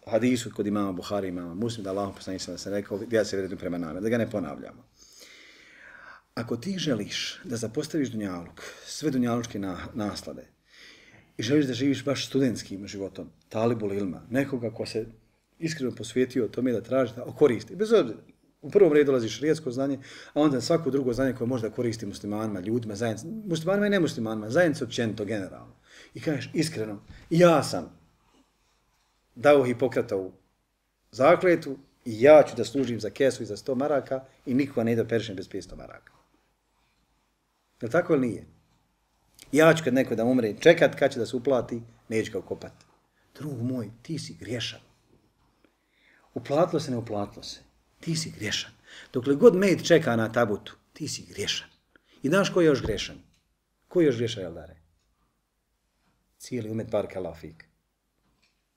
B: hadisu kod imama Buhari, imama Muslim, da Allahom poslanik sam rekao, ja se vredim prema nama, da ga ne ponavljamo. Ako ti želiš da zapostaviš dunjaluk, sve dunjalučke naslade, i želiš da živiš baš studentskim životom, talibul ilma, nekoga ko se iskreno posvetio tome da traži da koristi, bez obzira. U prvom redu dolazi šerijatsko znanje, a onda svako drugo znanje koje može da koristi muslimanima, ljudima, zajednici, muslimanima i nemuslimanima, zajednici općenito, generalno. I kažeš iskreno, ja sam dao Hipokratovu zakletu i ja ću da služim za kesu i za 100 maraka i nikoga ne da peršem bez 500 maraka. Je li tako ili nije? Ja ću kad neko da umre čekat kad će da se uplati, neću ga ukopati. Drug moj, ti si griješan. Uplatilo se, ne uplatilo se. Ti si griješan. Dokle god med čeka na tabutu, ti si griješan. I znaš ko je još griješan? Ko je još griješan, Jeldare? Cijeli umet barakallahu fik.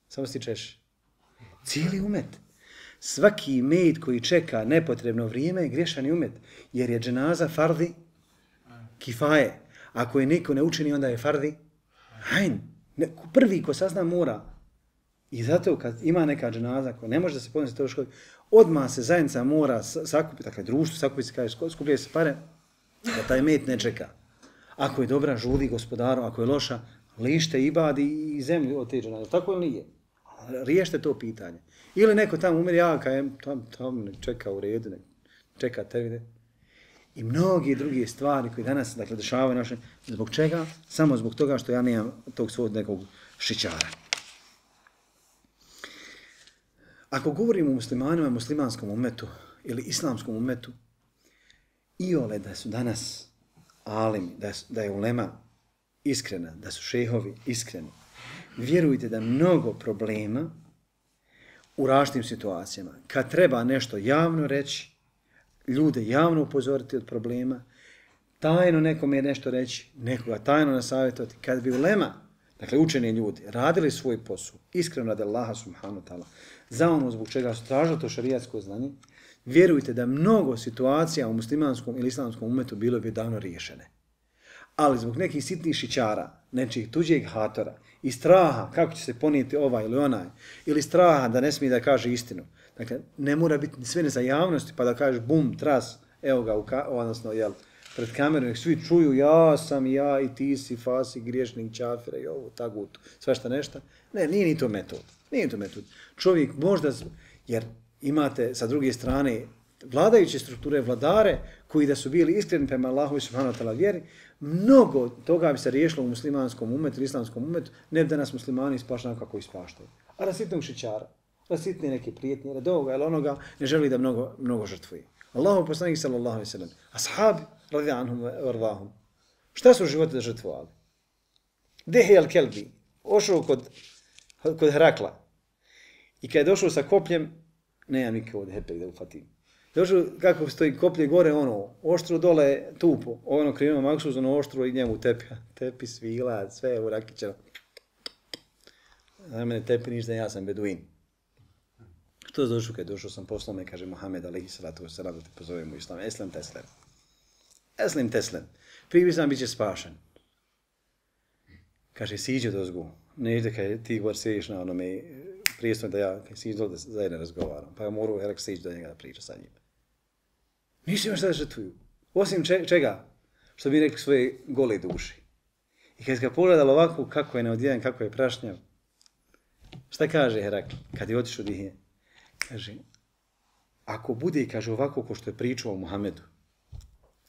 B: Samo si češ. Cijeli umet. Svaki med koji čeka nepotrebno vrijeme je griješan i umet. Jer je dženaza fardi kifaje. Ako je niko ne učini, onda je fardi hajn. Prvi ko sazna mora. I zato kad ima neka dženaza koja ne može da se podnosi to školi, odmah se zajednica mora sakupiti, dakle društvo sakupiti se, kaže, skupljaju se pare, da taj med ne čeka. Ako je dobra, žudi gospodaru, ako je loša, lište ibadi i zemlju od te dženaze. Tako ili nije? Riješite to pitanje. Ili neko tamo umre, ja kajem, tam čeka u redu, čeka termine. I mnogi druge stvari koje danas, dakle, dešavaju naše, zbog čega? Samo zbog toga što ja nemam tog svog nekog šićara. Ako govorimo o muslimanima, muslimanskom umetu ili islamskom umetu, iole da su danas alimi, da je ulema iskrena, da su šehovi iskreni, vjerujte da mnogo problema u različitim situacijama, kad treba nešto javno reći, ljude javno upozoriti od problema, tajno nekome nešto reći, nekoga tajno nasavjetovati, kad bi ulema, dakle učeni ljudi, radili svoj posao, iskreno radi Allaha subhanahu wa ta'ala, za ono zbog čega su tražili to šerijatsko znanje, vjerujte da mnogo situacija u muslimanskom ili islamskom umetu bilo bi davno riješene. Ali zbog nekih sitnih šićara, nečih tuđeg hatora i straha kako će se ponijeti ovaj ili onaj, ili straha da ne smije da kaže istinu. Dakle, ne mora biti sve ne za javnosti pa da kažeš bum, tras, evo ga, odnosno, jel, pred kamerom, nek svi čuju ja sam ja i ti si fasi, griješnik, čafira i ovo, tagut, sve šta nešto. Ne, nije ni to metod. Nije to metod. Čovjek možda, jer imate sa druge strane vladajuće strukture, vladare, koji da su bili iskreni prema Allahu subhanahu wa ta'ala vjeri, mnogo toga bi se riješilo u muslimanskom umetu, islamskom umetu, ne bi da nas muslimani ispaštaju kako ispaštaju. A rasitnog šičara, rasitne neke prijetnje, radi ovoga ili onoga, ne želi da mnogo žrtvuje. Allahu poslanik sallallahu alejhi ve sellem, ashabi radijallahu anhum vardahum. Šta su živote da žrtvovali? Dihje al-Kelbi, ošao kod Herakla. I kad je došao sa kopljem, nemam nikako od hepek da ufatim. Došao kako stoji koplje gore, oštro dole tupo, krivima maksuz, oštro i njemu tepi svila, sve u rakićano. Za mene tepi ništa, ja sam beduin. Što je došao kad je došao sam poslao me, kaže Muhammed alejhi salatu vesselam, da te pozovemo u islam. Eslim teslem. Eslim teslem. Prije sam bit će spašen. Kaže, siđe dozgu. Neđe kad ti govor sjediš na onome prijestvo da ja siđe dole da zajedno razgovaram. Pa ja moru Herak siđe do njega da priča sa njim. Ništa ima šta da žrtvuju. Osim čega? Što bi rekli svoje gole duši. I kad ga pogledalo ovako kako je neodjedan, kako je prašnjav. Šta kaže Herakl kad je otišao Dihije? Kaže, ako bude, kaže, ovako ko što je pričao o Muhammedu,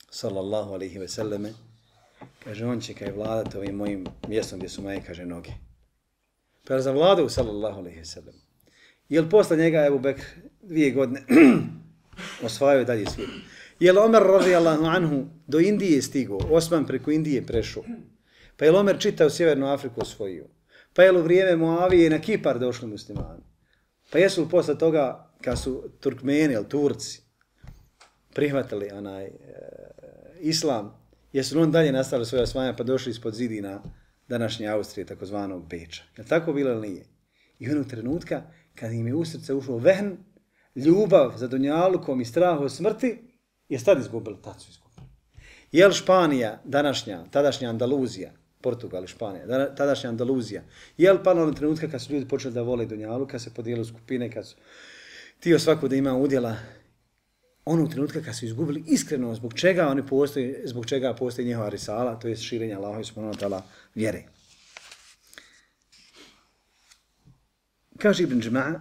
B: sallallahu alejhi ve selleme, kaže, on će kaj vladati ovim mojim mjestom gdje su moje, kaže, noge. Pa je zavladao, sallallahu alejhi ve sellem. Jel posle njega Ebu Bekr 2 godine osvajao dalje svijet? Jel Omer radijallahu anhu do Indije stigao, Osman preko Indije prešao? Pa je Omer čitao Sjevernu Afriku osvojio? Pa je u vrijeme Muavije na Kipar došli muslimani? Pa jesu li posle toga, kad su Turkmeni ili Turci prihvatili islam, jesu li on dalje nastavili svoje osvajanja pa došli ispod zidina današnje Austrije, takozvanog Beča? Je li tako bilo ili nije? I onog trenutka, kad im je u srce ušlo vehn, ljubav za dunjalukom i strah od smrti, je tad izgubili, tad su izgubili. Jel Španija, tadašnja Andaluzija, Portugal i Španija, tadašnja Andaluzija, jel palo na trenutka kad su ljudi počeli da vole dunjalu, kad se podijeli u skupine, kad su htio svako da ima udjela, onog trenutka kad su izgubili iskreno zbog čega oni postoji, zbog čega postoji njihova risala, to je širenje Allaha subhanahu wa ta'ala vjere. Kaže Ibn Džema'a,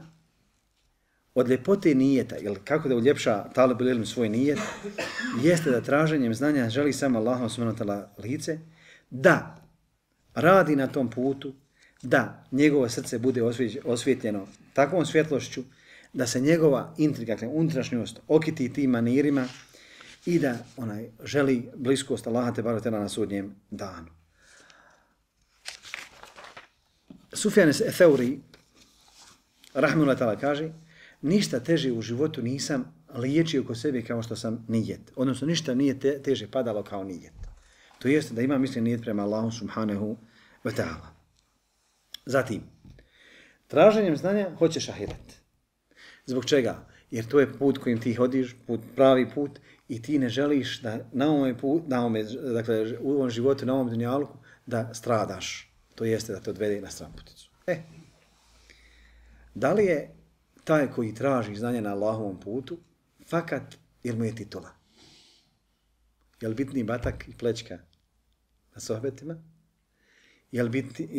B: od ljepote nijeta, ili kako da uljepša talib ilm svoj nijet, jeste da traženjem znanja želi samo Allaha subhanahu wa ta'ala lice, da radi na tom putu, da njegovo srce bude osvjetljeno takvom svjetlošću, da se njegova intriga, unutrašnjost okiti tim manirima i da želi bliskost Allaha te barek na sudnjem danu. Sufjan Theuri, rahimehullah ta'ala, kaže, ništa teže u životu nisam liječio oko sebe kao što sam nijet. Odnosno, ništa nije teže padalo kao nijet. To jeste da ima mislim nijet prema Allahu subhanahu wa ta'ala. Zatim, traženjem znanja hoćeš ahiret. Zbog čega? Jer to je put kojim ti hodiš, pravi put, i ti ne želiš da dakle, u ovom životu, na ovom dunjaluku, da stradaš. To jeste da te odvede na stranputicu. Da li je taj koji traži znanje na Allahovom putu fakat ili mu je titula? Je li bitniji batak i plećka na sohbetima? Je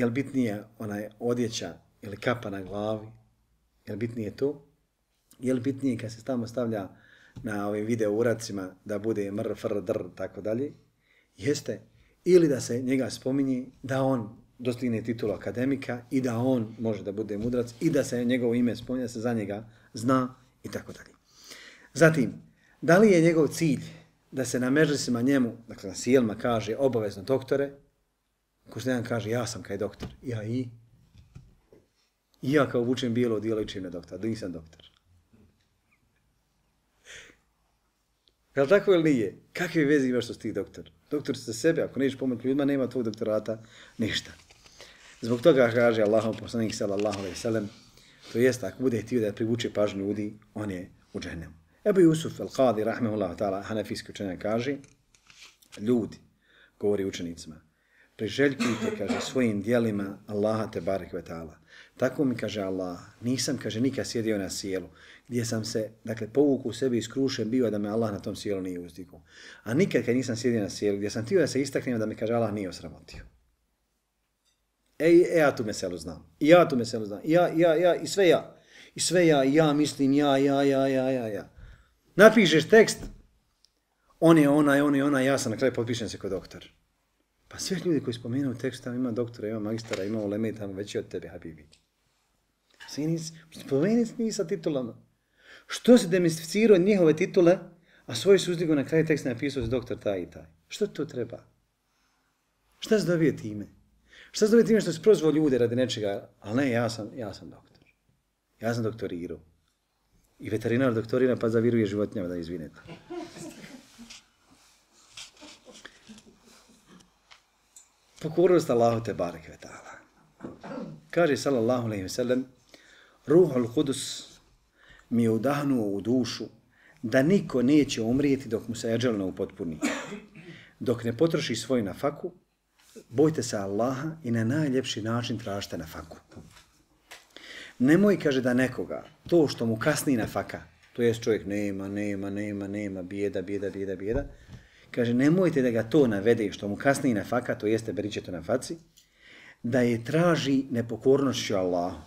B: li bitnija odjeća ili kapa na glavi? Je li bitnije to? Je li bitnije kad se tamo stavlja na ovim video uradcima da bude mr, fr, dr, tako dalje? Jeste. Ili da se njega spominje da on dostigne titulu akademika i da on može da bude mudrac i da se njegovo ime spominje, da se za njega zna i tako dalje. Zatim, da li je njegov cilj da se na mežlisima njemu, dakle na sjelma kaže obavezno doktore, ko što jedan kaže ja sam kaj doktor, I ja kao vučem bijelo odijelo ličim na doktora, da nisam doktor. Je li tako ili nije? Kakve veze imaš što si ti doktor? Doktor si za sebe, ako nećeš pomoći ljudima, nema tvoj doktorata, ništa. Zbog toga kaže Allahov poslanik sallallahu alejhi ve sellem, to jest ako bude htio da privuče pažnju ljudi, on je u džehennemu. Ebu Jusuf al-Qadi, rahmehullah ta'ala, hanefijski učenjak, kaže, ljudi, govori učenicima, priželjkujte, kaže, svojim dijelima Allaha te barek ve ta'ala. Tako mi kaže Allah, nisam, kaže, nikad sjedio na sjelu, gdje sam se, dakle, povukao u sebi iskrušen bio da me Allah na tom sjelu nije uzdigao. A nikad kad nisam sjedio na sjelu, gdje sam htio da se istaknem da me, kaže, Allah nije osramotio. Ja tu meselu znam. I ja tu meselu znam. Ja, i sve ja. I sve ja, ja mislim, ja. Napišeš tekst, on je onaj, ja sam na kraju potpišem se kao doktor. Pa sve ljudi koji spomenuo tekst, tamo ima doktora, ima magistara, ima uleme, tamo veći od tebe, habibi. Spomeni mi sa titulama. Što si demistificirao njihove titule, a svoj su uzdigo na kraju teksta napisao doktor taj i taj. Što to treba? Šta se dobije time? Šta se dobije time što si prozvao ljude radi nečega? Ali ne, ja sam doktor. Ja sam doktorirao. I veterinar doktorira pa zaviruje životinjama, da izvinete. Pokornost Allahu te bareke ve ta'ala. Kaže sallallahu alejhi ve sellem: Ruhul Kudus mi je udahnuo u dušu da niko neće umrijeti dok mu se eđel ne upotpuni. Dok ne potroši svoju nafaku, bojte se Allaha i na najljepši način tražite nafaku. Nemoj, kaže, da nekoga, to što mu kasni nafaka, to jest čovjek nema, bijeda, kaže, nemojte da ga to navede što mu kasni nafaka, to jeste beričeto na faci, da je traži nepokornošću Allahu.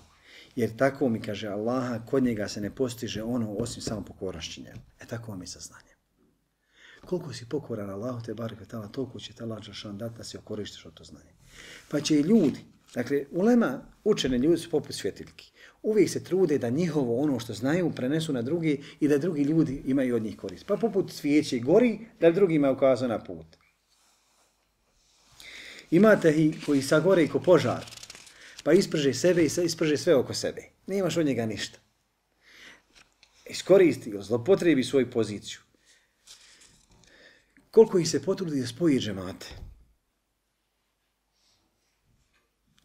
B: Jer tako mi, kaže Allaha, kod njega se ne postiže ono osim samo pokornošću njemu. Tako vam je saznanje. Koliko si pokoran Allahu te barek ve ta'ala, toliko će te Allah dželešan dati da se okoristiš od to znanje. Pa će i ljudi, dakle, ulema, učene ljudi su poput svjetiljki. Uvijek se trude da njihovo ono što znaju prenesu na drugi i da drugi ljudi imaju od njih korist. Pa poput svijeće gori da drugima ukazuje na put. Imate ih koji sagore i ko požar, pa isprže sebe i isprže sve oko sebe. Nemaš od njega ništa. Iskoristi ga, zlopotrebi svoju poziciju. Koliko ih se potrudi da spoji džemate?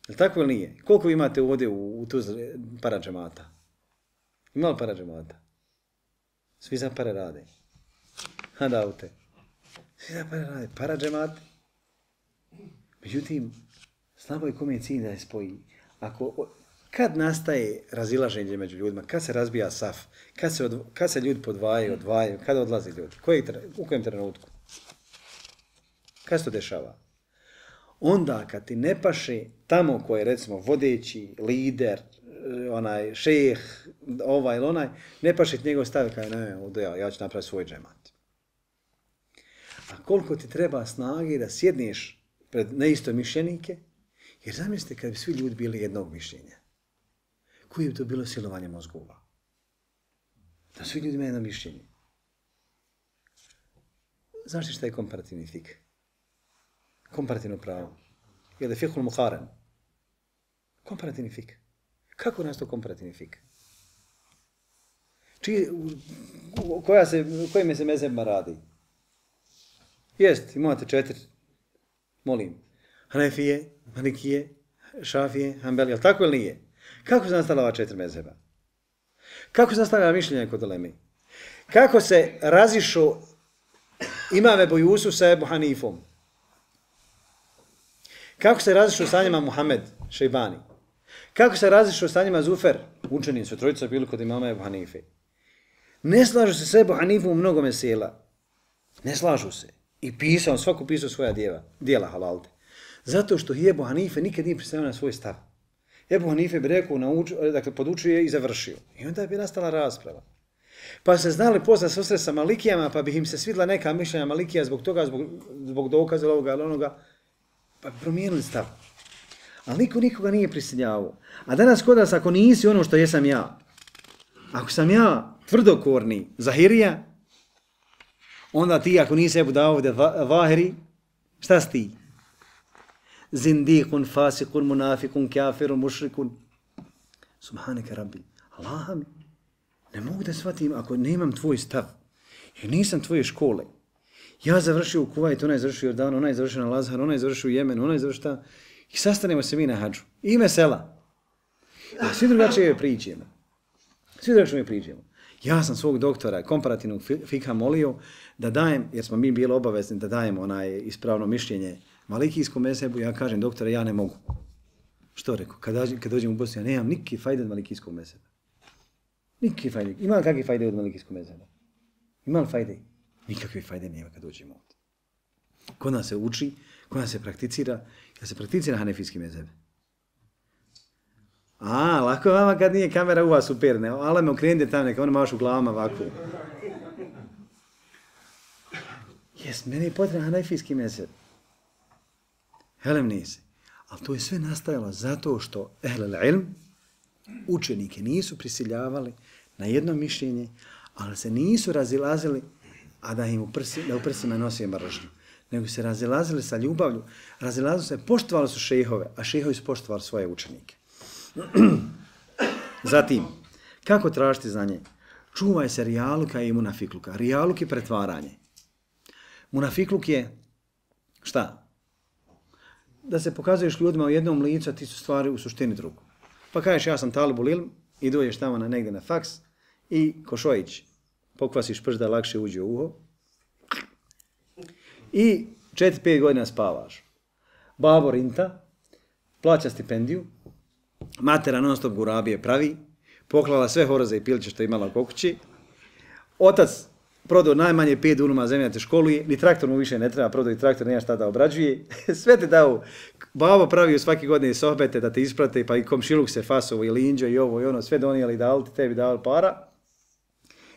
B: Je li tako ili nije? Koliko imate ovdje u Tuzli para džemata? Ima li para džemata? Svi za pare rade. Hadavte. Svi za pare rade. Para džemate. Međutim, slabo je kome je cilj da je spoji. Kad nastaje razilaženje među ljudima, kad se razbija saf, kad se ljudi odvajaju, kad odlaze ljudi, u kojem trenutku? Kad se to dešava? Onda kad ti ne paše tamo ko je recimo vodeći, lider, onaj šejh, ovaj ili onaj, ne paše ti njegov stav, kaj ne, ja ću napraviti svoj džemat. A koliko ti treba snage da sjedneš pred neistomišljenike, jer zamislite kad bi svi ljudi bili jednog mišljenja. Koje bi to bilo silovanje mozgova? Da svi ljudi imaju jedno mišljenje. Znaš šta je komparativni fik? Komparativno pravo. Je li fiqhul muqaran? Komparativni fik. Kako nas to komparativni fik? Kojim se mezhebima radi? Jest, imate 4. Molim. Hanefije, Malikije, Šafije, Hanbelije, ali tako ili nije? Kako se nastala ova 4 mezheba? Kako se nastala mišljenja kod uleme? Kako se razišao Imam Ebu Jusuf sa Ebu Hanifom? Kako se razišao sa njima Muhammed Šejbani? Kako se razišao sa njima Zufer? Učeni su, trojica bili kod imama Ebu Hanife. Ne slažu se s Ebu Hanifom u mnogo mesela. Ne slažu se. I svako pisao svoja dijela halalte. Zato što Ebu Hanife nikad nije pristavio na svoj stav. Ebu Hanife bi rekao, dakle, podučio je i završio. I onda bi nastala rasprava. Pa se znali posle susret sa Malikijama, pa bi im se svidla neka mišljenja Malikija zbog toga, zbog dokaza ovoga ili onoga, pa bi promijenili stav. Ali niko nikoga nije prisiljavao. A danas kod nas, ako nisi ono što jesam ja, ako sam ja tvrdokorni zahirija, onda ti, ako nisi Ebu Davud Vahiri, šta si ti? Zindikun, fasikun, munafikun, kafirun, mušrikun. Subhaneke rabbi. Allah mi. Ne mogu da shvatim ako nemam tvoj stav. Jer nisam tvoje škole. Ja završio u Kuvajtu, onaj završio u Jordanu, onaj završio na Lazar, onaj završio u Jemenu, onaj završio ta... I sastanemo se mi na hađu. I mesela. A svi drugačije pričamo. Ja sam svog doktora komparativnog fikha molio da dajem, jer smo mi bili obavezni da dajemo onaj ispravno mišljenje malikijskom mezhebu, ja kažem doktore, ja ne mogu. Što rekao? Kad dođem u Bosnu, ja nemam nikakve fajde od malikijskog mezheba. Nikakve fajde. Ima li kakve fajde od malikijskog mezheba? Ima li fajde? Nikakve fajde nema kad dođemo ovdje. Kod nas se uči, kod nas se prakticira, kad se prakticira hanefijski mezheb. Lako je vama kad nije kamera u vas uperne, ali me okrenite tamo, neka ono maš u glavama ovako. Jes, meni je potreban hanefijski mezheb. Helem nisi. Ali to je sve nastajalo zato što ehlel ilm, učenike nisu prisiljavali na jedno mišljenje, ali se nisu razilazili, a da im u prsima nosije mržnju. Nego se razilazili sa ljubavlju, razilazili se, poštovali su šejhove, a šejhovi su poštovali svoje učenike. Zatim, kako tražiti znanje? Čuvaj se rijaluka i munafikluka. Rijaluk je pretvaranje. Munafikluk je šta? Da se pokazuješ ljudima u jednom licu, a ti su stvari u suštini drugu. Pa kažeš ja sam talibul ilm i dođeš tamo negdje na faks i ko Šojić pokvasiš prst da lakše uđe u uho i 4-5 godina spavaš. Babo rinta, plaća stipendiju, matera non stop gurabije pravi, poklala sve horoze i piliće što je imala oko kući, otac prodao najmanje 5 dunuma zemlje da te školuje, ni traktor mu više ne treba, prodao i traktor, nema šta da obrađuje, sve te dao, babo pravio svake godine sohbete da te isprate, pa i komšiluk se fasovo i linđo i ovo i ono, sve donijeli dali ti, tebi dali para.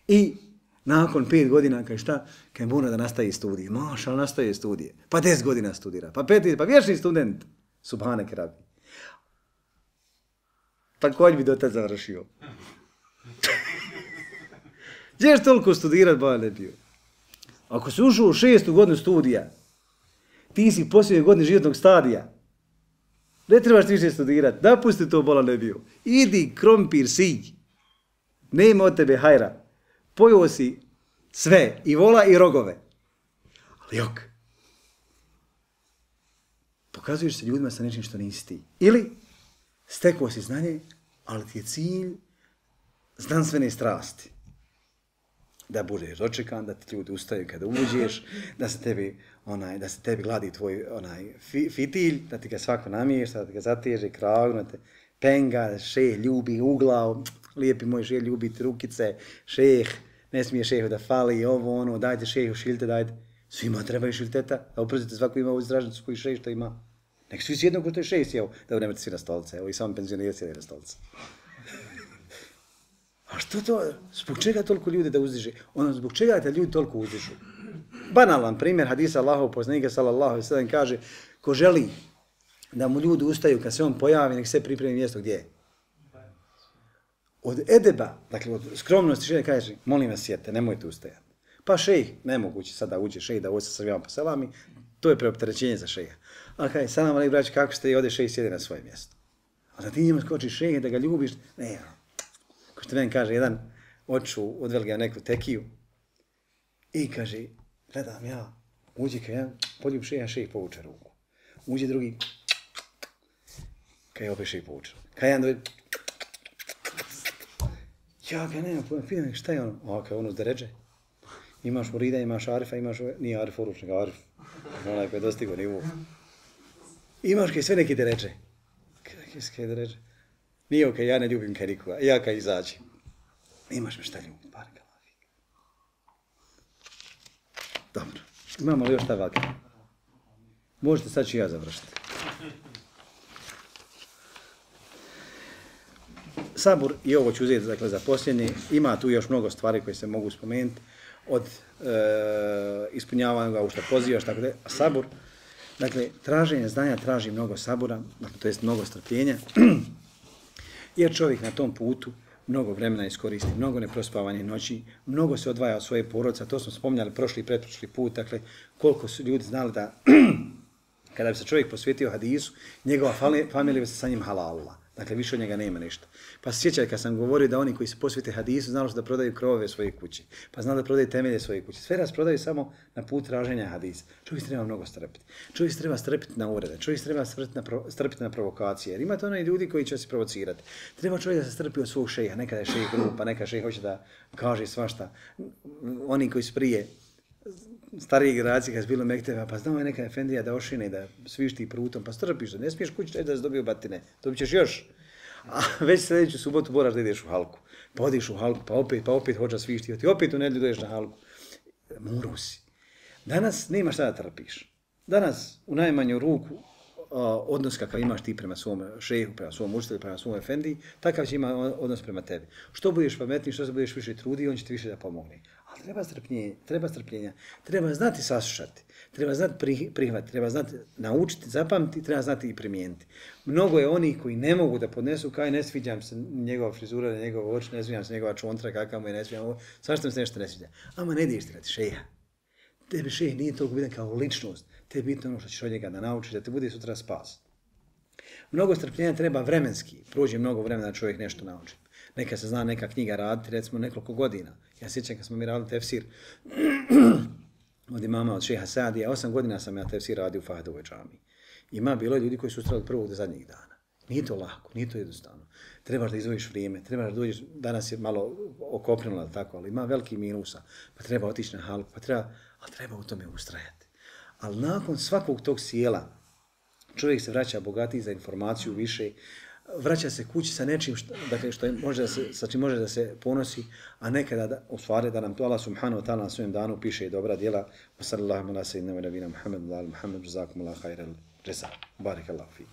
B: I nakon 5 godina, kaj šta, kaj mora da nastaje studije. Maš, ali nastaje studije. Pa 10 godina studira, pa 5, pa vječni student. Subhanek rabi. Također bi do tad završio. Gdje ješ toliko studirat, ba ne bio? Ako si ušao u 6. godinu studija, ti si posljednje godine životnog stadija. Ne trebaš ti više studirat. Napusti to, bola ne bio. Idi, krompir, sij. Nema od tebe hajra. Pojeo si sve, i vola i rogove. Ali jok. Pokazuješ se ljudima sa nečim što nisi ti. Ili stekao si znanje, ali ti je cilj znanstvene strasti. Da budeš dočekan, da ti ljudi ustaju kada uđeš, da se tebi gladi tvoj fitilj, da ti ga svako namješta, da ti ga zateže, kragnu, te penga, šeh ljubi uglav, lijepi moj šeh ljubiti rukice, šeh, ne smije šehu da fali, ovo ono, dajte šehu šilte, dajte. Svima trebaju šilteta, da uprozite svako ima ovu izražnicu koji šeh što ima. Nek svi sjedno ko što je šeh sjeo, da nemate svi na stolice, evo i samo penzioneri sjeli na stolice. A što to, zbog čega toliko ljudi da uzdiže? Ono, zbog čega te ljudi toliko uzdižu? Banalan primjer, hadisa Allahov poslanika sallallahu alejhi ve sellem kaže, ko želi da mu ljudi ustaju kad se on pojavi, nek se pripremi mjesto gdje je. Od edeba, dakle od skromnosti šeha kaže, molim vas sjete, nemojte ustajati. Pa šejh, nemoguće sada uđe šejh da uđe sa svima po selami, to je preopterećenje za šeha. A kaže, salam alejkum braći, kako ste i ode šejh sjede na svoje mjesto. A da ti njemu skočiš šejh, da ga ljubiš, ne, ko što meni kaže, jedan oču odveli ga neku tekiju i kaže, gledam ja, uđe kad ja poljub šeha, šejh povuče ruku. Uđe drugi, kad je opet šejh povuče. Kad jedan dođe, ja ga nema pojma, pitam šta je ono? A kao ono zdeređe. Imaš murida, imaš arifa, imaš, nije arif oruč, nego arif. Onaj koji je dostigo nivu. Imaš kaj sve neki deređe. Kaj deređe? Nije okej, ja ne ljubim kaj nikoga, ja kaj izađem. Imaš me šta ljubim, bar kalavi. Dobro, imamo li još šta vaka? Možete sad ću ja završiti. Sabur, i ovo ću uzeti dakle, za posljednje, ima tu još mnogo stvari koje se mogu spomenuti, od ispunjavanja u što pozivaš, tako da je sabur, dakle, traženje znanja traži mnogo sabura, dakle, to jest mnogo strpljenja, jer čovjek na tom putu mnogo vremena iskoristi, mnogo neprospavanje noći, mnogo se odvaja od svoje porodice, to smo spominjali prošli i pretprošli put, dakle, koliko su ljudi znali da kada bi se čovjek posvetio hadisu, njegova familija bi se sa njim halalila. Dakle, više od njega nema ništa. Pa se sjećaj kad sam govorio da oni koji se posvete hadisu znali su da prodaju krovove svoje kuće. Pa znali da prodaju temelje svoje kuće. Sve rasprodaju samo na put traženja hadisa. Čovjek se treba mnogo strpiti. Čovjek se treba strpiti na urede. Čovjek se treba strpiti na provokacije. Jer imate onaj ljudi koji će se provocirati. Treba čovjek da se strpi od svog šeha. Nekada je šejh grub, pa neka šejh hoće da kaže svašta. Oni koji su prije starije generacije kad je bilo mekteba, pa znamo je neka efendija da ošine, da svišti prutom, pa strpiš da ne smiješ kući da se dobiju batine, dobit ćeš još. A već sljedeću subotu moraš da ideš u halku. Pa odiš u halku, pa opet hođa svišti, opet u nedjelju dođeš na halku. Muru si. Danas nema šta da trpiš. Danas u najmanju ruku odnos kakav imaš ti prema svom šehu, prema svom učitelju, prema svom efendiji, takav će ima odnos prema tebi. Što budeš pametniji, što se budeš više truditi, on će ti više da pomogne. Ali treba strpljenja, treba znati saslušati, treba znati prihvatiti, treba znati naučiti, zapamtiti, treba znati i primijeniti. Mnogo je onih koji ne mogu da podnesu, kaj ne sviđam se njegova frizura, njegov oči, ne sviđam se njegova čontra, kakav mu je, ne sviđam ovo, zašto mi se nešto ne sviđa. Ama ne ideš tirati šeha. Tebi šeh nije toliko bitan kao ličnost, tebi je bitno ono što ćeš od njega da naučiš, da te bude sutra spas. Mnogo strpljenja treba vremenski, prođe mnogo vremena da čovjek nešto nauči. Neka se zna neka knjiga raditi, recimo nekoliko godina. Ja sjećam kad smo mi radili tefsir od imama, od šeha Saadija, 8 godina sam ja tefsir radio u Fahdovoj džamiji. Ima bilo ljudi koji su ustrali od prvog do zadnjih dana. Nije to lako, nije to jednostavno. Trebaš da izvojiš vrijeme, trebaš da dođeš, danas je malo okopnilo, tako, ali ima veliki minusa, pa treba otići na halku, ali treba u tome ustrajati. Ali nakon svakog tog sjela, čovjek se vraća bogatiji za informaciju više, vraća se kući sa nečim sa čim može da se ponosi, a nekada u stvari da nam to Allah subhanahu wa ta'ala na svojem danu piše i dobra djela. Wa sallallahu ala sayyidina wa nabina Muhammad wa ala Muhammad jazakumullahu khairal jazaa. Barakallahu fi.